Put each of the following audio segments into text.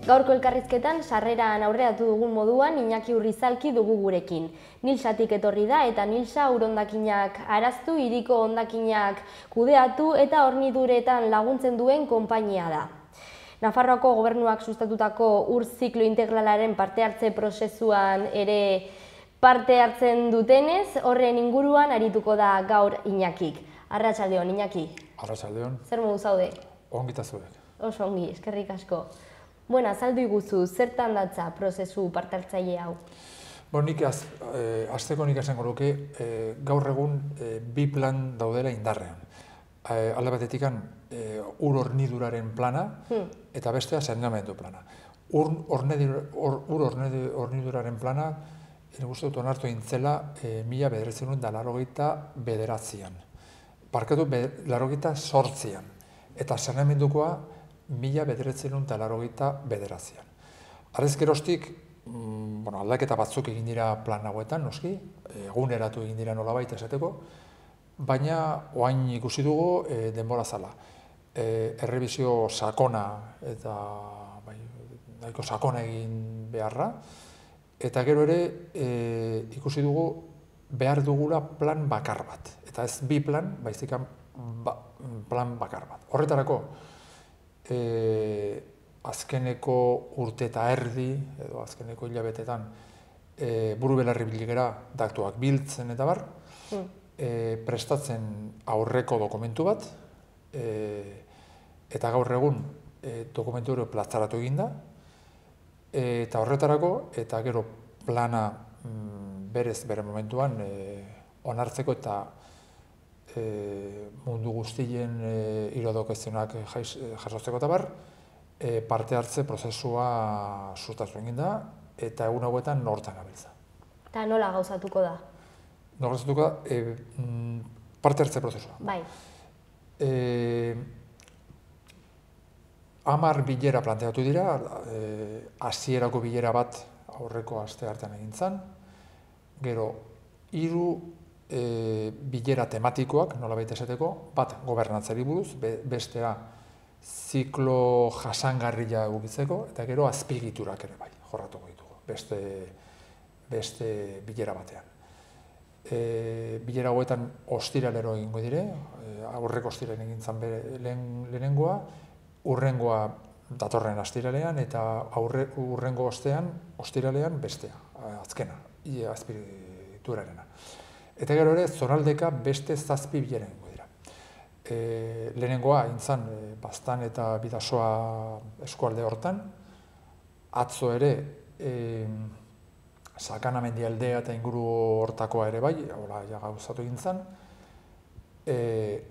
Gaurko elkarrizketan sarreran aurreratu dugun moduan Iñaki Urrizalki dugu gurekin. Nilsatik etorri da eta Nilsa urondakinak araztu, hiriko hondakinak kudeatu eta horniduretan laguntzen duen konpainia da. Nafarroako gobernuak sustatutako ur ziklo integralaren parte hartze prozesuan ere parte hartzen dutenez, horren inguruan arituko da gaur Iñakik. Arratsaldeon, Iñaki. Arratsaldeon. Zer modu zaude? Ongita zuek. Oso ongi, eskerrik asko. Bueno, azaldu iguzu, zertan datza prozesu parte hartzaile hau? Nik hasteko nik esango nuke gaur egun bi plan daudela indarrean. Alde batetik ur horniduraren plana eta bestea saneamendu plana. Ur horniduraren plana uste dut onartu egin zela 1989an. Barkatu 1988an. Eta saneamendukoa 1989an. Arrez geroztik, aldaketa batzuk egin dira plan hauetan, noski, eguneratu egin dira nolabait esateko, baina orain ikusi dugu denbora zala. Errebisio sakona eta nahiko sakona egin beharra, eta gero ere ikusi dugu behar dugula plan bakar bat. Eta ez bi plan, baizik plan bakar bat. Horretarako, azkeneko urte eta erdi, edo azkeneko hilabetetan, buru belarri biligera datuak biltzen eta bar, prestatzen aurreko dokumentu bat, eta gaur egun dokumentu hori plazaratu eginda, eta horretarako, eta gero plana berez bere momentuan onartzeko eta mundu guztien iradokezionak jasotzeko eta bar, parte hartze prozesua sustatu egin da, eta egun hauetan hortan gabiltza. Eta nola gauzatuko da? Nola gauzatuko da, parte hartze prozesua. Bai. 10 bilera planteatu dira, hasierako bilera bat aurreko aste hartan egin zen, gero 3 bilera tematikoak, nolabait esateko, bat gobernantzari buruz, bestea ziklo jasangarria egokitzeko, eta gero azpiegiturak ere bai, jorratuko ditugu, beste bilera batean. Bilera hauetan ostiralero egingo dire, aurreko ostiralen egin zen lehenengoa, urrengoa datorren ostiralean, eta urrengo ostiralean bestea, azkena, azpiegiturarena. Eta gero ere, zonaldeka beste 7 bilera egingo dira. Lehenengoa, intzan, Baztan eta Bidasoa eskualde hortan, atzo ere, Sakana mendialdea eta inguru hortakoa ere bai, hola, gauzatu egin zen,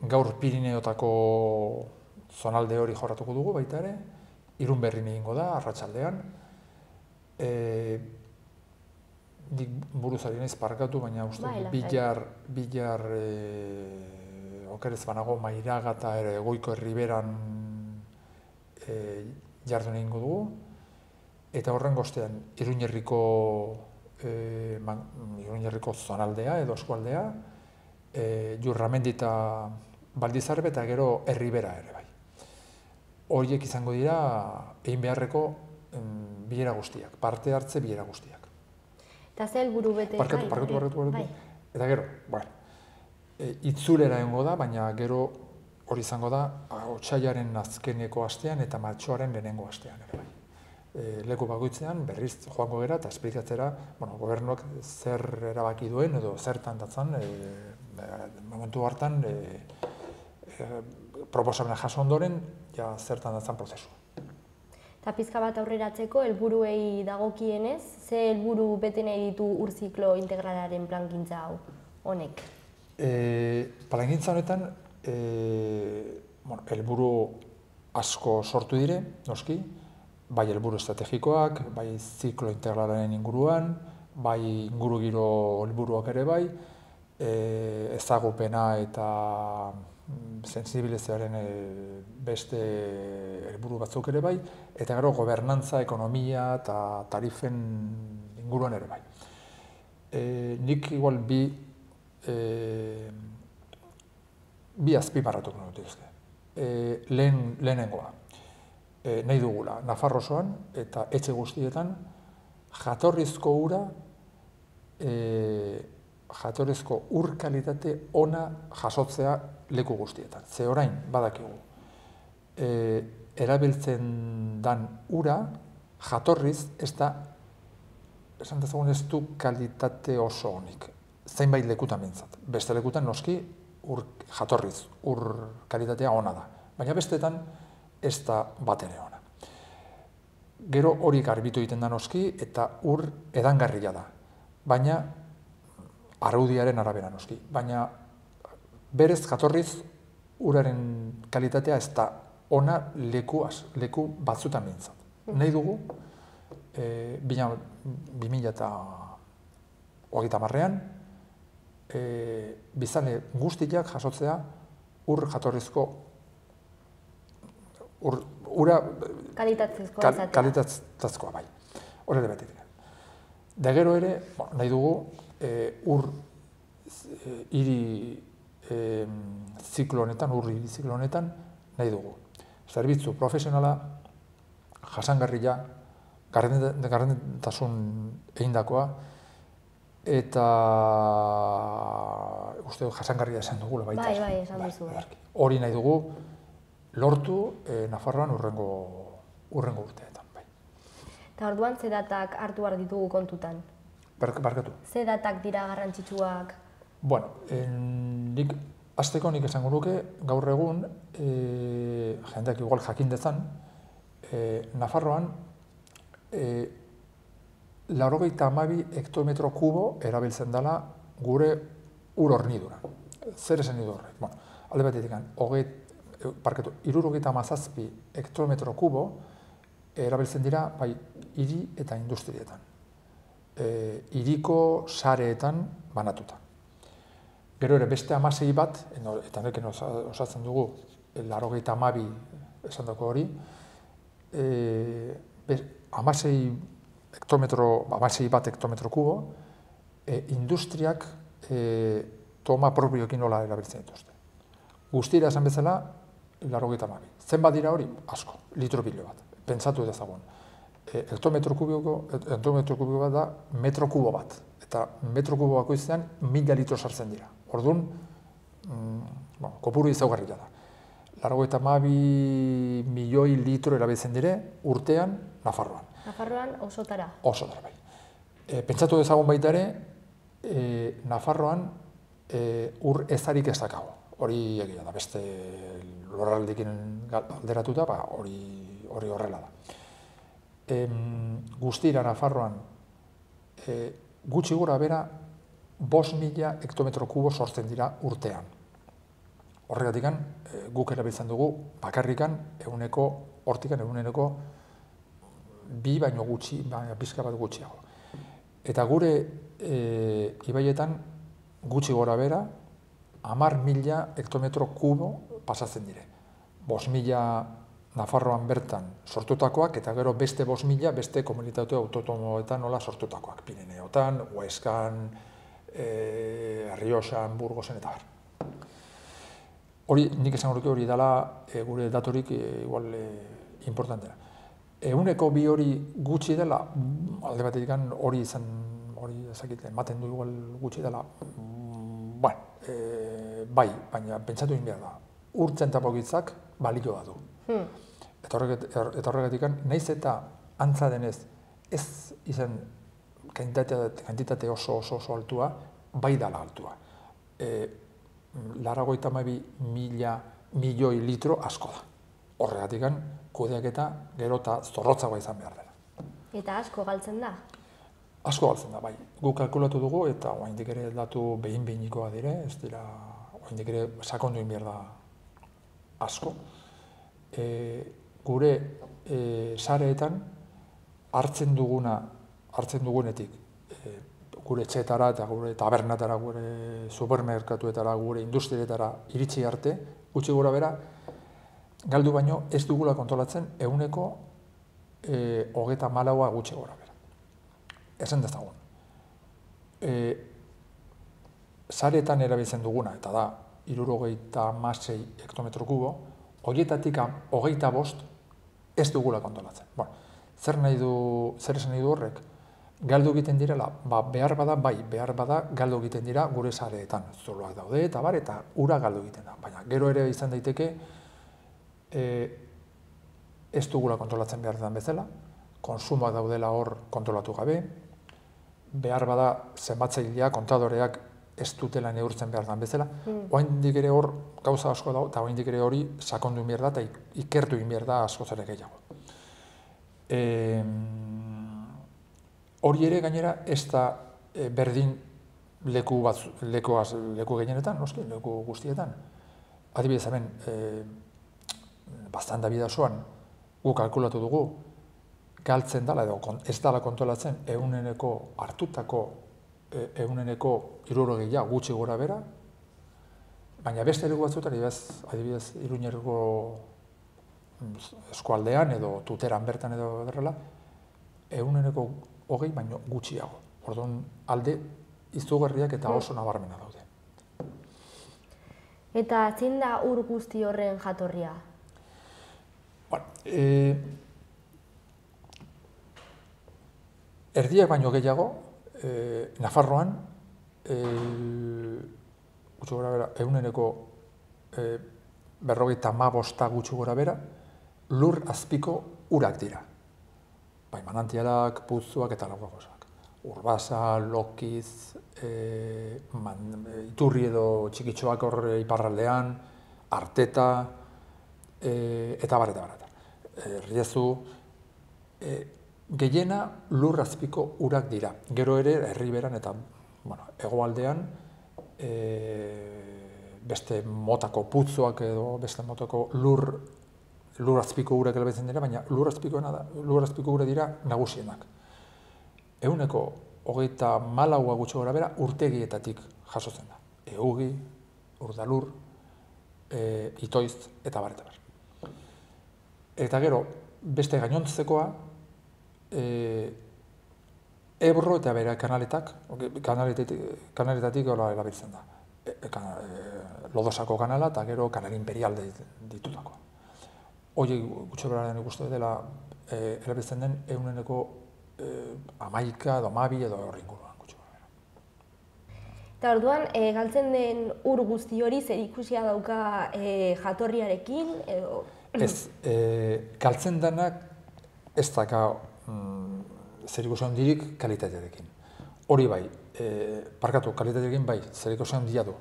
gaur Pirineotako zonalde hori jorratuko dugu baita ere, Irunberrin egingo da, arratsaldean, dik buruzari naiz parkatu, baina uste bilar okerez banago Mairaga eta Goiko Erriberan jardun egingo dugu, eta horrengo ostean Iruñerriko zonaldea edo eskualdea, Jurramendi eta Baldizarbe eta gero Erribera ere bai. Horiek izango dira egin beharreko bilera guztiak, parte hartze bilera guztiak. Eta ze helburu bete? Parkatu. Eta gero, itzulera egongo da, baina gero hori izango da otsailaren azkeneko astean eta martxoaren lehenengo astean ere bai. Leku bakoitzean berriz joango gera eta esplikatzera gobernuak zer erabaki duen edo zertan datzan momentu hartan proposamena jaso ondoren zertan datzan prozesu. Eta pizka bat aurreratzeko, helburuei dagokienez, ze helburu bete nahi ditu ur ziklo integralaren plangintza hau honek? Plangintza honetan, helburu asko sortu dire, noski, bai helburu estrategikoak, bai ziklo integralaren inguruan, bai ingurugiro helburuak ere bai, ezagupena eta sensibilizazioaren beste helburu batzuk ere bai, eta gero gobernantza, ekonomia eta tarifen inguruan ere bai. Nik igual bi azpimarratuko dituzke. Lehenengoa. nahi dugula, Nafarro osoan eta etxe guztietan jatorrizko ura, jatorrizko ur kalitate ona jasotzea leku guztietan. Ze orain, badakigu, erabiltzen dan ura, jatorriz ez da, esan dezagun ez du kalitate oso honik. Zeinbait lekutan bintzat. Beste lekutan noski jatorriz, ur kalitatea ona da. Baina bestetan ez da bat ere ona. Gero hori garbitu egiten da noski eta ur edangarria da. Baina araudiaren arabera noski. Baina berez jatorriz uraren kalitatea ez da ona leku batzutan bintzat. Nahi dugu, 2030an, biztanle guztiak jasotzea ur jatorrizko ura kalitatezkoa bai. Hori ere betetik. Da gero ere, nahi dugu ur hiri ziklo honetan, ur hiri ziklo honetan nahi dugu. Zerbitzu profesionala, jasangarria, gardentasun egindakoa, eta uste dut jasangarria esan dugula baita. Bai, esan duzu. Hori nahi dugu lortu Nafarroan urrengo urteetan. Eta orduan ze datak hartu behar ditugu kontutan? Barkatu. Ze datak dira garrantzitsuak? Bueno, nik esango nuke gaur egun, jendeak igual jakin dezan, Nafarroan 92 hektometro kubo erabiltzen dela gure ur hornidura. Zer esan nidu horrek? Bueno, alde batetik, 77 hektometro kubo erabiltzen dira bai hiri eta industrietan. Hiriko sareetan banatuta. Gero ere beste 16 bat, eta neken osatzen dugu 92 esan dako hori, 16 bat hektometro kubo, industriak toma propioekin nola erabiltzen dituzte. Guztira esan bezala, 92. Zenbat dira hori? Asko, litro pilo bat. Pentsatu dezagun. Hektometro kubiko bat da metro kubo bat. Eta metro kubo bakoitzean 1000 litro sartzen dira. Orduan, kopuru izaugarria da. 92 milioi litro erabiltzen dire urtean Nafarroan. Nafarroan osotara? Osotara, bai. Pentsatu dezagun baita ere, Nafarroan ur ezarik ez dakago. Hori egia da, beste lurraldeekin alderatuta, hori horrela da. Guztira Nafarroan gutxi gora bera 5.000 hektometro kubo sortzen dira urtean. Horregatik guk erabiltzen dugu bakarrikan hortikan eguneko 2 baino gutxi, pixka bat gutxiago. Eta gure ibaietan gutxi gora bera 10.000 hektometro kubo pasatzen dire. 5.000 Nafarroan bertan sortutakoak eta gero beste 5.000 beste komunitate autonomoetan nola sortutakoak. Pirineotan, Huescan, Rioxan, Burgosen eta bar. Hori, nik esango nuke hori dela gure datorik igual importantena. 102 hori gutxi dela, alde batetik hori ematen du igual gutxi dela, bai, baina pentsatu egin behar da. Urtzen tapogitzak balioa du. Eta horregatik, nahiz eta antza denez ez izan kantitate oso altua, bai dala altua. 92 milioi litro asko da. Horregatik, kudeaketa gero eta zorrotzagoa izan behar dela. Eta asko galtzen da? Asko galtzen da, bai. Guk kalkulatu dugu eta oraindik ere datu behin-behinikoa dire, ez dira, oraindik ere sakondu egin behar da asko. Gure sareetan hartzen dugunetik gure etxeetara eta gure tabernatara, gure supermerkatuetara, gure industrietara iritsi arte, gutxi gora bera, galdu baino ez dugula kontrolatzen 34 gutxi gora bera. Esan dezagun. Sareetan erabiltzen duguna, eta da 76 hektometro kubo, horietatik 25 ez dugula kontrolatzen. Bueno, zer esan nahi du horrek? Galdu egiten direla, behar bada galdu egiten dira gure sareetan. Zuloak daude eta eta ura galdu egiten da. Baina gero ere izan daiteke ez dugula kontrolatzen behar den bezala, konsumoak daudela hor kontrolatu gabe, behar bada zenbatzaileak, kontadoreak ez dutela neurtzen behar den bezala. Oraindik ere hor gauza asko dago, eta oraindik ere hori sakondu egin behar da, eta ikertu egin behar da askoz ere gehiago. Hori ere gainera ez da berdin leku gehienetan, noski, leku guztietan. Adibidez hemen, bastan da bidazoan, gu kalkulatu dugu, galtzen dela edo ez dela kontrolatzen hartutako ehuneko 60 gutxi gora bera, baina beste leku batzuetan, adibidez Iruñerriko eskualdean edo Tuteran bertan edo derrela, 20% baino gutxiago. Orduan alde izugarriak eta oso nabarmena daude. Eta zein da ur guzti horren jatorria? Erdiak baino gehiago, Nafarroan, gutxi gora bera, 55% gutxi gora bera, lur azpiko urak dira. Bai, manantialak, putzuak eta lagoak. Urbasa, Lokiz, Iturri edo txikitxoak hor iparraldean, Arteta, eta bar. Riezu, gehiena lur azpiko urak dira. Gero ere, herriberan eta hegoaldean, beste motako putzuak edo beste motako lur azpiko urak elebetzen dira, baina lur azpiko ura dira nagusienak. 24% gutxi gora bera urtegietatik jasotzen da. Eugi, Urdalur, Itoiz eta bar. Eta gero, beste gainontzekoa, Ebro eta bere kanaletatik erabiltzen da. Lodosako kanala eta gero kanal imperial ditutako. Hori gutxi beraren ikuste dela erabiltzen den 11% edo 12 edo horri inguruan gutxi beraren. Eta orduan, galtzen den ur guzti hori zer ikusia dauka jatorriarekin edo? Ez, galtzen denak ez daka zer ikusi handirik kalitatearekin. Hori bai, kalitatearekin bai, zer ikusi handia du.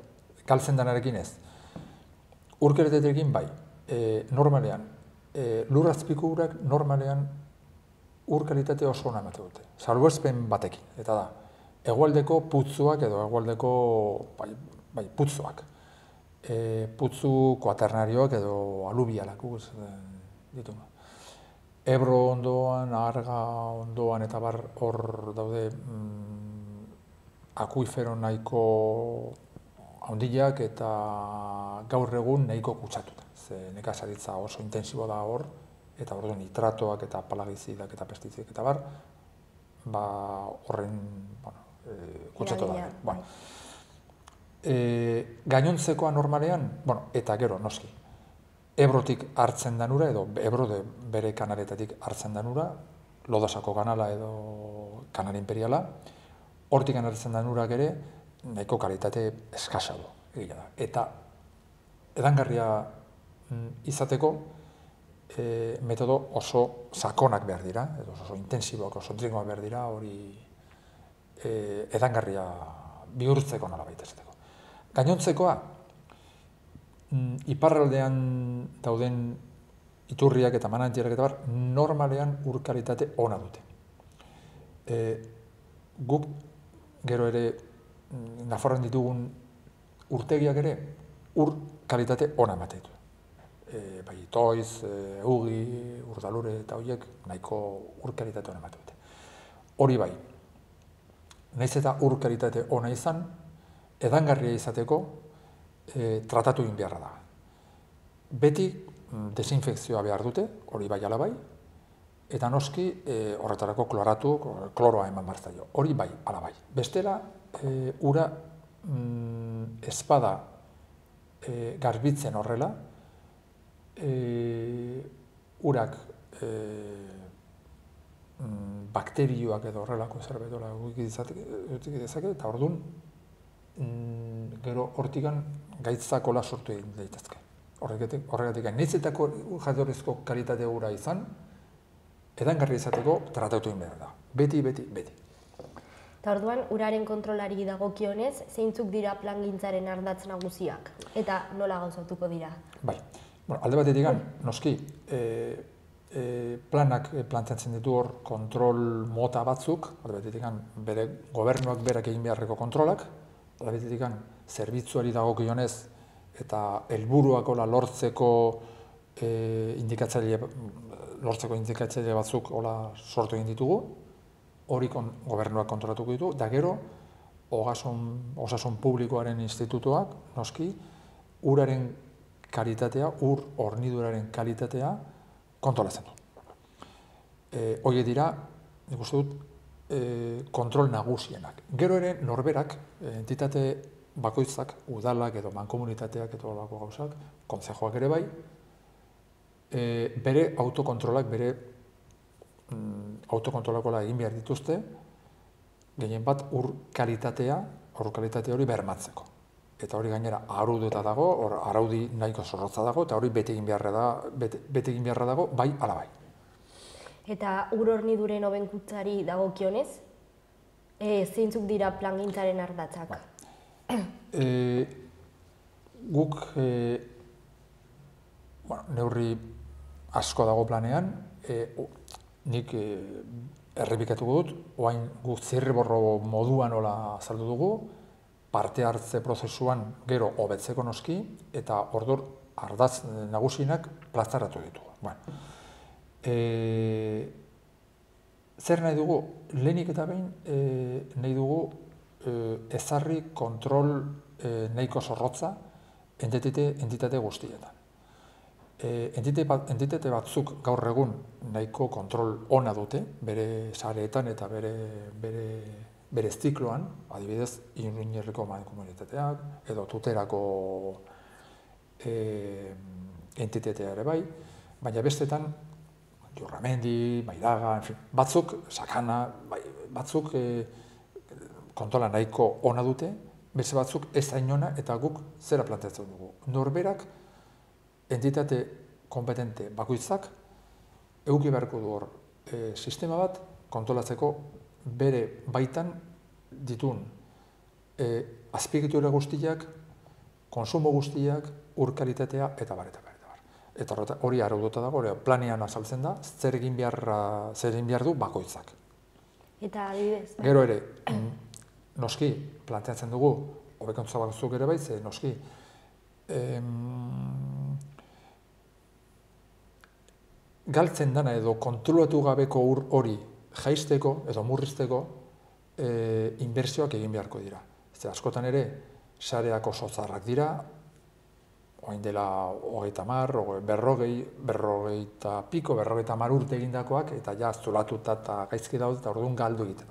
Galtzen denarekin ez. Ur kalitatearekin bai, normalean, lur azpiko urak normalean ur kalitate oso ona ematen dute. Salbuespen batekin, eta da, hegoaldeko putzuak edo hegoaldeko putzuak. Putzu kuaternarioak edo alubialak ditu. Ebro ondoan, Arga ondoan eta bar hor daude akuifero nahiko handiak eta gaur egun nahiko kutsatuta. Nekazaritza oso intensibo da hor, eta orduan nitratoak eta palagizidak eta pestizidak eta bar, horren kutsatu da. Gainontzekoa normalean, eta gero, noski, Ebrotik hartzen den ura, edo Ebro bere kanaletatik hartzen den ura, Lodosako kanala edo kanal imperiala, hortik hartzen den urak ere, nahiko kalitate eskasa du, egia da. Eta edangarria izateko metodo oso sakonak behar dira, edo oso intensiboak, oso trinkoak behar dira, hori edangarria bihurtzeko nola baita esateko. Gainontzekoa, iparraldean dauden iturriak eta manantialak eta bar, normalean ur kalitate ona dute. Guk gero ere Nafarroan ditugun urtegiak ere ur kalitate ona ematen ditu. Bai, Itoiz, Eugi, Urdalure eta horiek nahiko ur kalitate ona ematen dute. Hori bai, nahiz eta ur kalitate ona izan, edangarria izateko tratatu egin beharra da. Beti desinfekzioa behar dute, hori bai ala bai, eta noski horretarako kloroa eman behar zaio. Hori bai, ala bai. Bestela, ura espada garbitzen horrela, urak bakterioak edo horrelako zerbait dezake, eta orduan gero hortikan gaitzakola sortu egin daitezke. Horregatik, nahizetako jatorrizko kalitate gura izan, edangarri izateko tratatu egin behar da. Beti. Eta orduan, uraren kontrolari dagokionez, zeintzuk dira plangintzaren ardatz nagusiak? Eta nola gauzatuko dira? Bai, alde batetik, noski, planak planteatzen ditu hor kontrol mota batzuk, alde batetik, bere gobernuak berak egin beharreko kontrolak, alde batetik, zerbitzuari dagokionez eta helburuak lortzeko indikatzaile batzuk sortu egin ditugu, hori gobernuak kontrolatuko ditu, da gero, osasun publikoaren institutuak, noski, uraren kalitatea, ur horniduraren kalitatea kontrolatzen du. Horiek dira, nik uste dut, kontrol nagusienak. Gero ere, norberak, entitate bakoitzak, udalak edo mankomunitateak edo olako gauzak, kontzejoak ere bai, bere autokontrolak, bere autokontrolakola egin behar dituzte, gehien bat ur kalitate hori bermatzeko. Eta hori gainera arauduta dago, araudi nahiko zorrotza dago, eta hori bete egin beharra dago, bai ala bai. Eta ur horniduren hobenkuntzari dagokionez, zeintzuk dira plangintzaren ardatzak? Guk neurri asko dago planean, nik errepikatuko dut, oain guk zirriborro moduan hola azaldu dugu, parte hartze prozesuan gero hobetzeko noski, eta ordor ardatz nagusienak plazaratu ditugu. Zer nahi dugu? Lehenik eta behin nahi dugu ezarri kontrol nahiko zorrotza entitate guztietan. Entitate batzuk gaur egun nahiko kontrol ona dute, bere sareetan eta bere zikloan, adibidez, Iruñerriko mankomunitateak, edo Tuterako entitatea ere bai, baina bestetan, Jurramendi, Mairaga, batzuk, Sakana, batzuk kontrola nahiko ona dute, beste batzuk ez hain ona, eta guk zera planteatzen dugu. Norberak, entitate kompetente bakoitzak eduki beharko du hor sistema bat kontrolatzeko bere baitan ditun azpiegitura guztiak, konsumo guztiak, ur kalitatea eta bar. Eta hori araututa dago, planean azaltzen da, zer egin behar du bakoitzak. Eta adibidez? Gero ere, noski, planteatzen dugu, hobekuntza batzuk ere baitze, noski, galtzen dana edo kontrolatu gabeko ur hori jaisteko edo murrizteko inbertsioak egin beharko dira. Askotan ere, sareak oso zaharrak dira, orain dela 30, 40 urte egindakoak, eta ja zulatuta eta gaizki daude, eta orduan galdu egiten.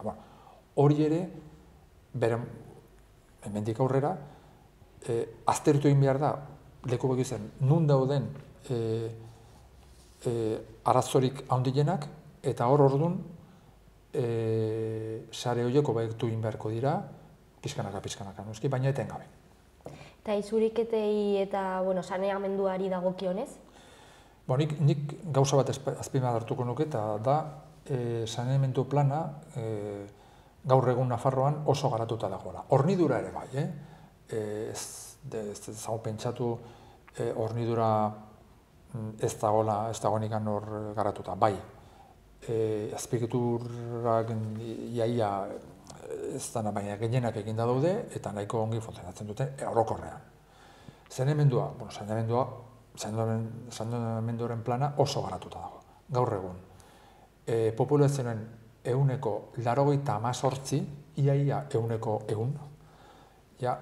Hori ere, hemendik aurrera, aztertu egin behar da, leku begizen, nun dauden arazorik handienak, eta hor orduan sare horiek hobetu egin beharko dira, pixkanaka, noski, baina etengabe. Eta izuriketei eta saneamenduari dagokionez? Nik gauza bat azpimarratuko nuke, eta da saneamendu plana gaur egun Nafarroan oso garatuta dagoela. Hornidura ere bai, ez dago pentsatu hornidura ez dagoenik hor garatuta, bai. Azpiegiturak iaia ez dana, baina gehienak eginda daude eta nahiko ongi funtzionatzen dute orokorrean. Saneamendua, saneamenduaren plana oso garatuta dago, gaur egun. Populazioaren 98%, iaia 100%, ja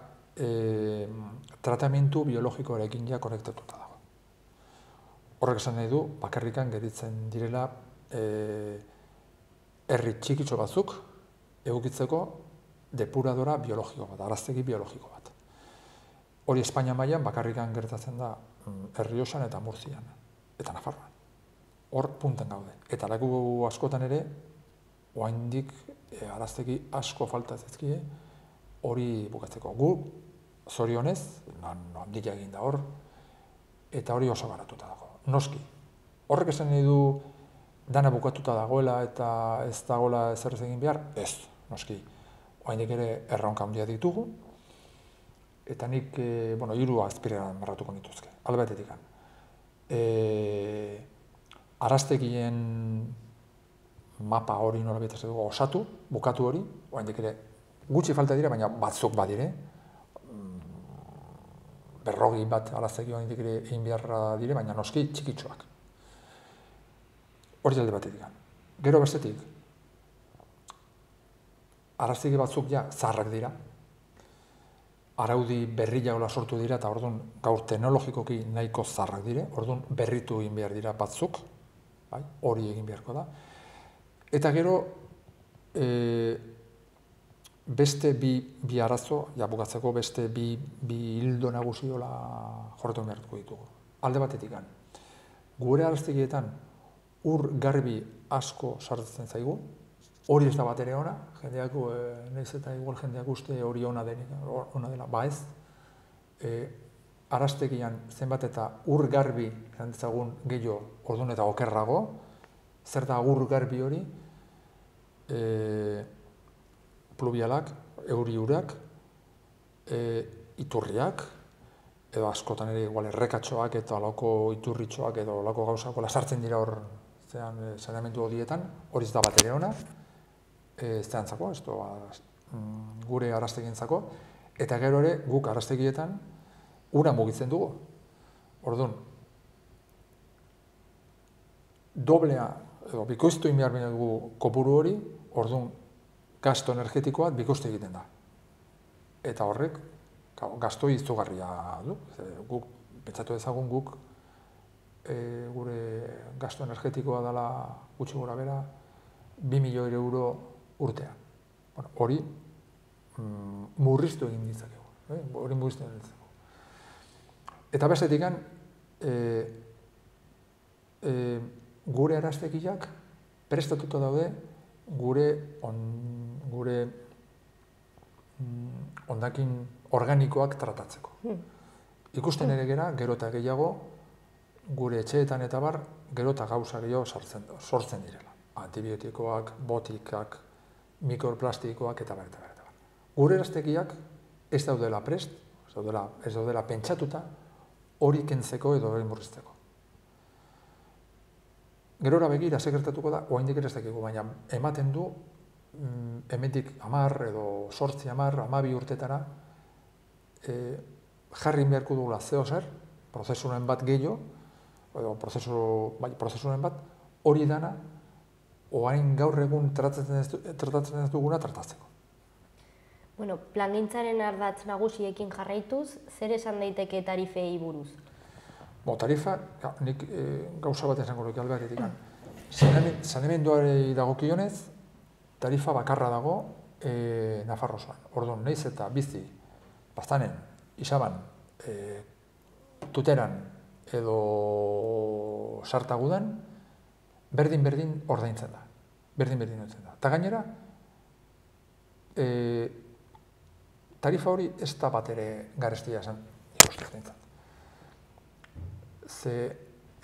tratamendu biologikoarekin ja konektatuta dago. Horrek esan nahi du, bakarrikan geritzen direla herri txikitxo batzuk egokitzeko depuradora biologiko bat, araztegi biologiko bat. Hori Espainia mailan bakarrikan gertatzen da Errioxan eta Murtzian, eta Nafarroan. hor punten gaude. Eta leku askotan ere, oraindik araztegi asko falta zaizkie hori bukatzeko. Gu, zorionez, handia egin da hor, eta hori oso garatuta dago. Noski, horrek esan nahi du dana bukatuta dagoela eta ez dagoela ezer egin behar? Ez, noski. Oraindik ere erronka handia ditugu, eta nik, hiru azpirean marratuko nituzke, alde batetik. Araztegien mapa hori nolabait dugu osatu, bukatu hori, oraindik ere gutxi falta dira, baina batzuk badire. 40 bat araztegi oraindik ere egin beharra dire, baina noski txikitxoak. Hori alde batetik. Gero bestetik, araztegi batzuk ja zaharrak dira, araudi berria sortu dira, eta orduan gaur teknologikoki nahiko zaharrak dire, orduan berritu egin behar dira batzuk, hori egin beharko da. Eta gero, beste bi arazo, bukatzeko beste bi hildo nagusiola jorretu behartuko ditugu. Alde batetik, gure araztegietan ur garbi asko sartzen zaigu, hori ez da bat ere ona, jendeak, nahiz eta igual jendeak uste hori ona dela, ez. Araztegian zenbat eta ur garbi jantzagun gehiago orduan eta okerrago, zer da ur garbi hori, pluvialak, euri urak, iturriak, edo askotan ere igual errekatxoak eta alako iturritxoak edo alako gauzako lasartzen dira hor saneamendu hodietan, hori ez da bat ere ona, zehantzako, gure araztegientzako, eta gero ere guk araztegietan ura mugitzen dugu. Orduan, doblea, edo bikoiztu egin behar dugu kopuru hori, orduan gasto energetikoa bikoiztu egiten da. Eta horrek, gasto izugarria du. Guk, pentsatu ezagun guk, gure gasto energetikoa dela gutxi gora bera, 2 milioi euro urtean. Hori murriztu egin ditzakegu. Hori murriztu egin ditzakegu. Eta bestetik, gure araztegiak prestatuta daude gure hondakin organikoak tratatzeko. Ikusten ere gera, gero eta gehiago, gure etxeetan eta bar, gero eta gauza gehiago sortzen direla. Antibiotikoak, botikak, mikroplastikoak eta bar. Gure araztegiak ez daudela prest, ez daudela pentsatuta, hori kentzeko edo hori murrizteko. Gerora begira, gertatuko da, oraindik ere ez dakigu, baina ematen du, hemendik 10 edo 8, 10, 12 urtetara, jarri beharko dugula zeozer, prozesuren bat gehiago, edo prozesuren bat, hori dana, orain gaur egun tratatzen ez duguna tratatzeko. Plangintzaren ardatz nagusiekin jarraituz, zer esan daiteke tarifei buruz? Tarifa, nik gauza bat esango luke albaretik. Saneamenduari dagokionez, tarifa bakarra dago Nafarroa osoan. Orduan, nahiz eta bizi, Baztanen, Isaban, Tuteran edo Sartagudan, berdin ordaintzen da. Berdin ordaintzen da. Eta gainera, tarifa hori ez da bat ere garestia esan, ikusten. Ze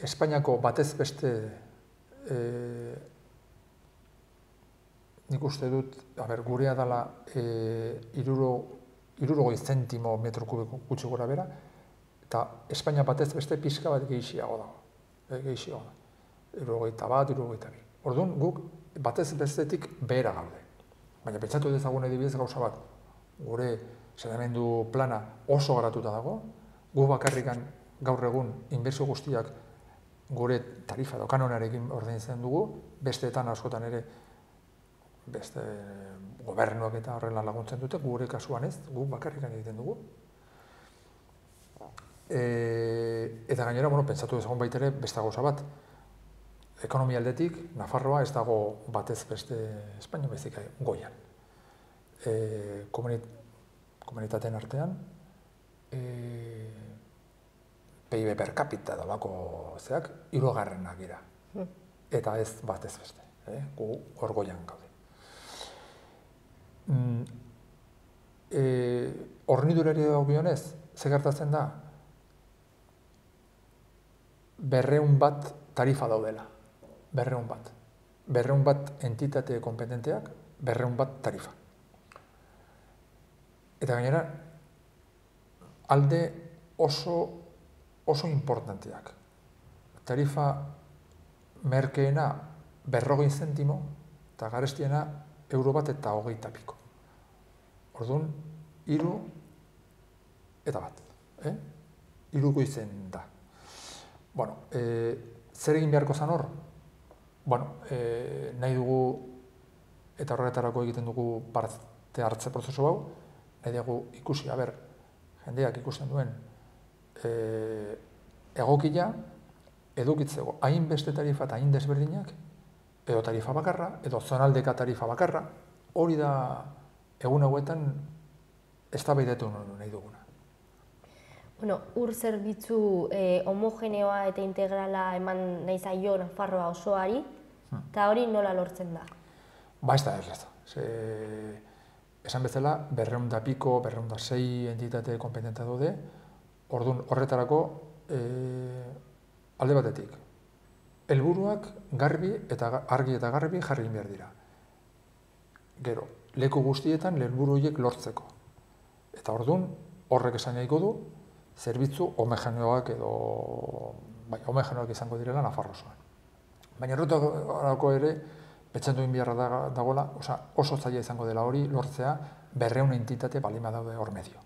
Espainiako batez beste nik uste dut, gurea dela 60 zentimo metro kubiko gutxi gora bera, eta Espainia batez beste pixka bat gehiago dago. Gehiago da. 61, 62. Orduan guk batez bestetik behera gaude. Baina pentsatu dezagun adibidez gauza bat, gure saneamendu plana oso garatuta dago, gu bakarrikan gaur egun inbertsio guztiak gure tarifa edo kanonarekin ordaintzen dugu, besteetan askotan ere beste gobernuak eta horrela laguntzen dute, gure kasuan ez, guk bakarrikan egiten dugu. Eta gainera, pentsatu dezagun baita ere beste gauza bat, ekonomia aldetik, Nafarroa ez dago batez beste Espainia baizik goian. Komunitateen artean, PIB per capita dolako zeak, 3. gira. Eta ez bat ez beste, gu hor goian gaude. Hornidurari dagokionez, ze gertatzen da? 200 tarifa daudela, 200. 200 entitate kompetenteak, 200 tarifa. Eta gainera, alde oso importanteak. Tarifa merkeena 40 zentimo, eta garestiena €1 eta 20 piko. Orduan, 3 eta bat. 3 goizen da. Bueno, zer egin beharko zan hor? Bueno, nahi dugu, eta horretarako egiten dugu parte hartze prozesu hau, nahi dugu ikusi, jendeak ikusten duen egokia edukitzeko hainbeste tarifa eta hain desberdinak, edo tarifa bakarra, edo zonaldeka tarifa bakarra, hori da egun hauetan eztabaidatu nahi duguna. Bueno, ur zerbitzu homogeneoa eta integrala eman nahi zaio Nafarroa osoari, eta hori nola lortzen da? Ba, ez da. Esan bezala, 200 piko, 206 entitate kompetentea daude, orduan horretarako alde batetik. Helburuak argi eta garbi jarri behar dira. Gero, leku guztietan helburu horiek lortzeko. Eta orduan, horrek esan nahiko du, zerbitzu homogeneoak edo homogeneoak izango direla Nafarroa osoan. Baina horretarako ere, pentsatu egin beharra dagoela, oso zaila izango dela hori lortzea 200 entitate balima daude hor medio.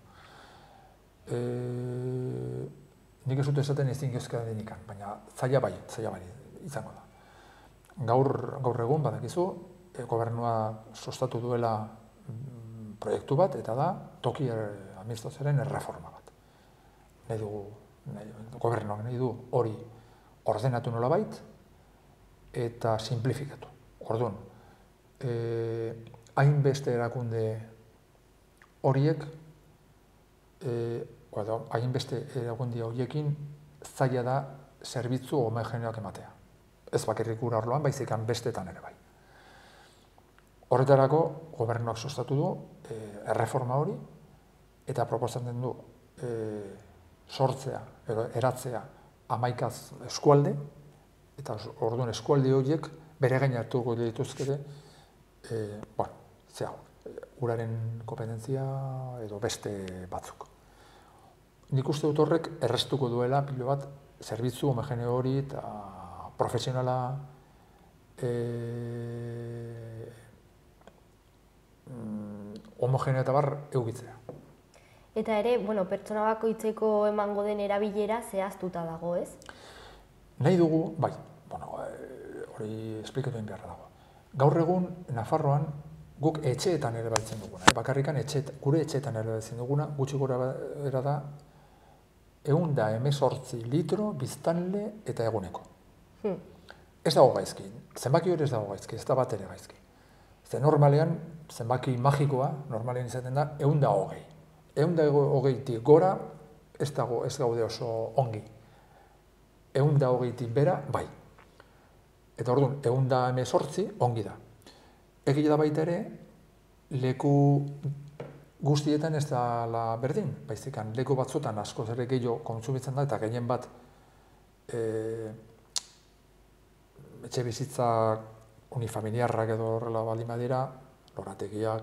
Nik ez dut esaten ezin gezka denikan, baina zaila bai izango da. Gaur egun badakizu, gobernua sustatu duela proiektu bat, eta da toki administrazioaren erreforma bat. Gobernuak nahi du hori ordenatu nolabait eta simplifikatu. Orduan, hainbeste erakunde horiek, hainbeste erakunde horiekin zaila da zerbitzu homogeneoak ematea. Ez bakarrik ura arloan, baizik bestetan ere bai. Horretarako, gobernuak sustatu du erreforma hori, eta proposatzen du sortzea, eratzea 11 eskualde, eta orduan eskualde horiek bere gain hartuko dituzkete, uraren kompetentzia edo beste batzuk. Nik uste dut horrek errestuko duela pilo bat zerbitzu homogeneo hori eta profesionala homogeneo eta bar eukitzea. Eta ere, pertsona bakoitzeko emango den erabilera zehaztuta dago, ez? Nahi dugu, bai, hori esplikatu egin beharra dago. Gaur egun, Nafarroan, guk etxeetan ere baltzen duguna. Bakarrikan gure etxeetan ere baltzen duguna, gutxi gora bera da, 118 litro biztanle eta eguneko. Ez dago gaizki, zenbaki hori ez dago gaizki, ez da bat ere gaizki. Ze normalean, zenbaki magikoa, normalean izaten da, 120. 120tik gora ez gaude oso ongi. 120tik bera, bai. Eta orduan, 118 ongi da. Egia da baita ere, leku guztietan ez da berdin, baizikan leku batzutan askoz ere gehiago kontsumitzen da, eta gehien bat etxe bizitza unifamiliarrak edo horrela baldin badira, lorategiak,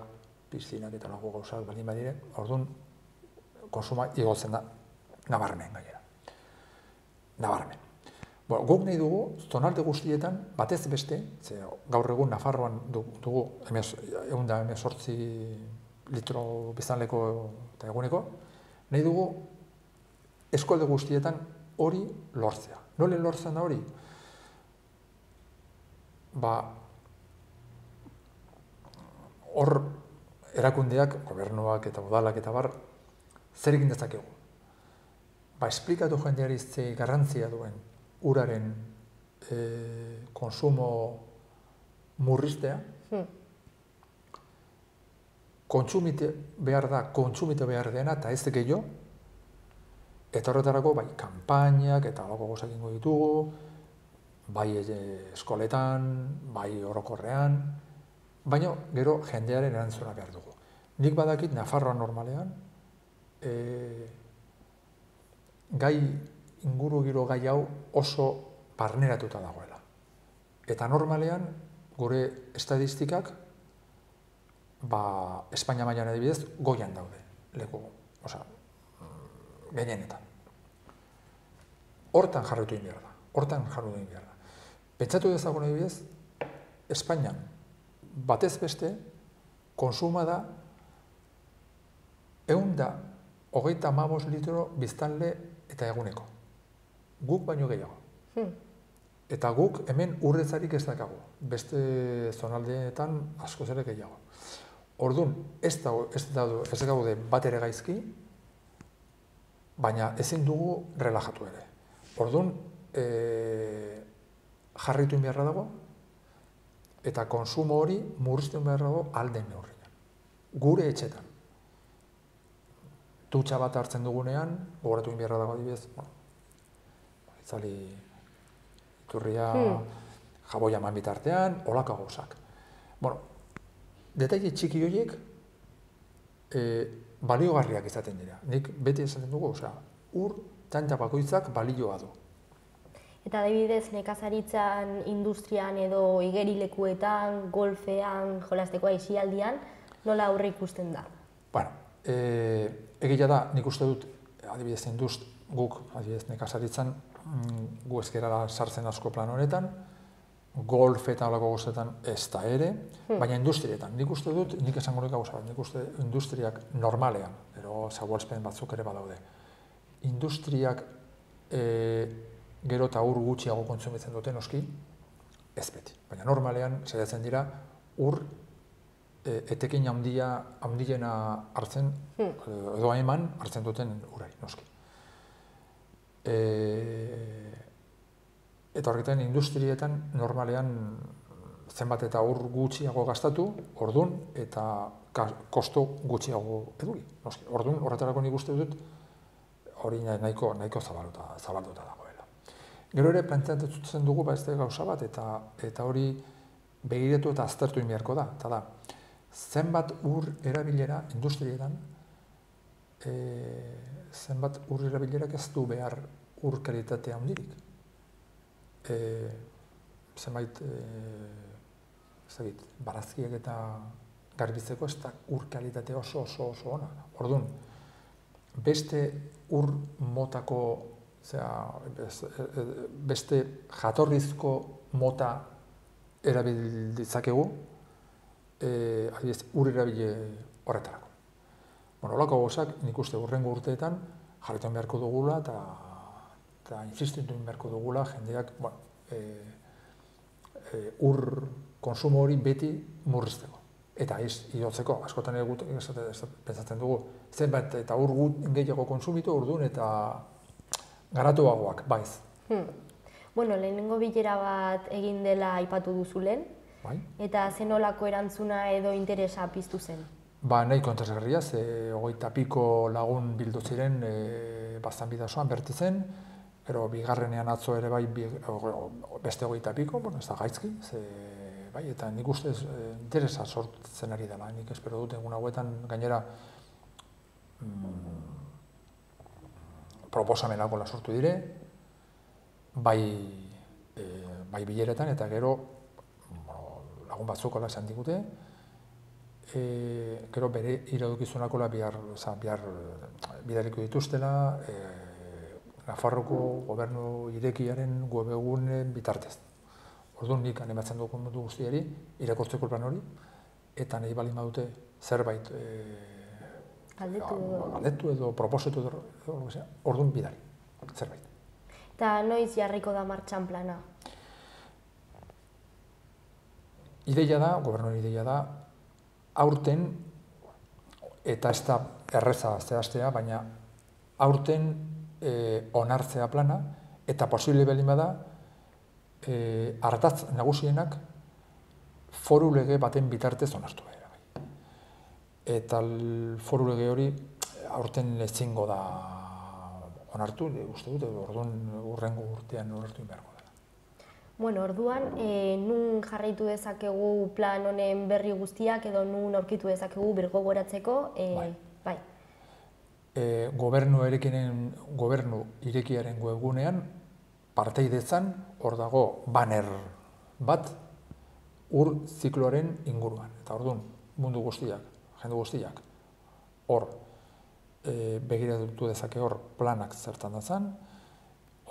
piszinak eta lagu gauzak baldin badire, orduan konsuma igotzen da nabarmen gainera. Nabarmen. Guk nahi dugu, zonalde guztietan, batez beste, gaur egun Nafarroan dugu 118 litro biztanleko eta eguneko, nahi dugu eskualde guztietan hori lortzea. Nola lortzen da hori? Hor erakundeak, gobernuak eta udalak eta bar, zer egin dezakegu? Esplikatu jendeari ze garrantzia duen uraren konsumo murriztea, kontsumite behar dena eta ez gehiago, eta horretarako kanpainak eta alako gozak ingo ditugu, bai eskoletan, bai orokorrean, baina gero jendearen erantzuna behar dugu. Nik badakit Nafarroa normalean, gai ingurugiro gai hau oso barneratuta dagoela. Eta normalean, gure estadistikak, Espainia mailan adibidez, goian daude, leku, gehienetan. Hortan jarraitu egin behar da, Pentsatu dezagun adibidez, Espainian, batez beste, konsuma da 135 litro biztanle eta eguneko. Guk baino gehiago. Eta guk hemen urretzarik ez dakagu. Beste zonaldeetan askoz ere gehiago. Orduan, ez gaude bat ere gaizki, baina ezin dugu relajatu ere. Orduan, jarraitu beharra dago, eta konsumo hori murriztu beharra dago alden neurrian. Gure etxetan. Dutxa bat hartzen dugunean, gogoratu beharra dago adibidez, itzali iturria, jaboia eman bitartean, holako gauzak. Detaile txiki horiek baliogarriak izaten dira. Nik beti esaten dugu, ur txantxa bakoitzak balioa du. Eta adibidez, nekazaritzan, industrian edo igerilekuetan, golfean, jolasteko aisialdian, nola aurre ikusten da? Egia da, nik uste dut, adibidez, guk, adibidez, nekazaritzan, gu ezkerara sartzen asko plan honetan, golf eta olako gozetan ez da ere, baina industrietan. Nik uste dut, nik esango nik gauza bat, nik uste industriak normalean, ero zagualzpen batzuk ere badaude, industriak gero eta ur gutxiago kontsumitzen duten noski, ez beti. Baina normalean, saiatzen dira, ur etekin handiena hartzen, edo eman hartzen duten urari, noski. Eta horretan, industrietan normalean zenbat eta ur gutxiago gastatu, ordun eta kosto gutxiago eduki. Ordun, horretarako nik uste dut, hori nahiko zabalduta dagoela. Gero ere, planteatzen dugu beste gauza bat, eta hori begiratu eta aztertu egin beharko da. Eta da, zenbat ur erabilera industrietan, zenbat ur erabilerak ez du behar ur kalitatea handirik. Zenbait, barazkiak eta garbitzeko ez da ur kalitatea oso ona. Orduan, beste ur motako, beste jatorrizko mota erabilditzakegu, ur erabile horretarako. Holako gozak, nik uste hurrengo urteetan jarretan beharko dugula eta insistitu beharko dugula jendeak ur konsumo hori beti murrizteko. Eta ez idotzeko, askotan pentsatzen dugu, zenbat eta ur gehiago konsumitu orduan eta garatuagoak, baiz. Lehenengo bilera bat egin dela aipatu duzu lehen, eta zenolako erantzuna edo interesa piztu zen? Nahiko interesgarria, 20 piko lagun bildu ziren baztan bidazoan bertizen, gero bigarrenean atzo ere bai beste 20 piko, ez da gaizki, eta nik ustez interesa sortzen ari dela, nik espero dut egun hauetan gainera proposamenak sortu dire, bai bileretan eta gero lagun batzuk esan digute, gero bere iradukizunako bihar bidaliko dituztela Nafarroko gobernu irekiaren webgunen bitartez. Orduan nik animatzen dokumentu guztiari irakurtzeko plan hori, eta nahi baldin badute zerbait galdetu edo proposetu edo orduan bidali, zerbait. Eta noiz jarriko da martxan plana? Ideia da, gobernuaren ideia da, aurten, eta ez da erreza zehaztea, baina aurten onartzea plana, eta posible baldin bada, ardatz nagusienak foru lege baten bitartez onartu behar. Eta foru lege hori aurten ezingo da onartu, uste dut, orduan hurrengo urtean onartu beharko dela. Bueno, orduan, nun jarraitu dezakegu plan honen berri guztiak edo nun aurkitu dezakegu birgogoratzeko? Bai. Gobernu irekiaren webgunean parteidetzan hor dago banner bat ur zikloaren inguruan. Eta orduan, mundu guztiak, jende guztiak, hor begiratu dezake hor planak zertan datzan,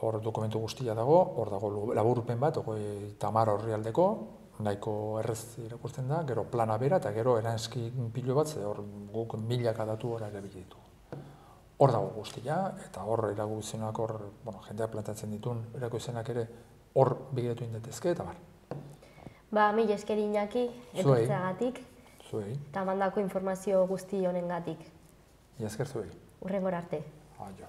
hor dokumentu guztia dago, hor dago laburpen bat, 30 orrialdeko, nahiko errez irakurtzen da, gero plana bera eta gero eranskin pilo bat, hor guk milaka datu hor erabili ditu. Hor dago guztia, eta hor erakuzenak hor, jendeak plantatzen dituen erakuzenak ere hor begiratu indetezke, eta bar. Mila esker Iñaki, etortzeagatik. Zuei. Eta mandako informazio guzti honengatik. Mila esker zuei. Hurrengora arte. Aio.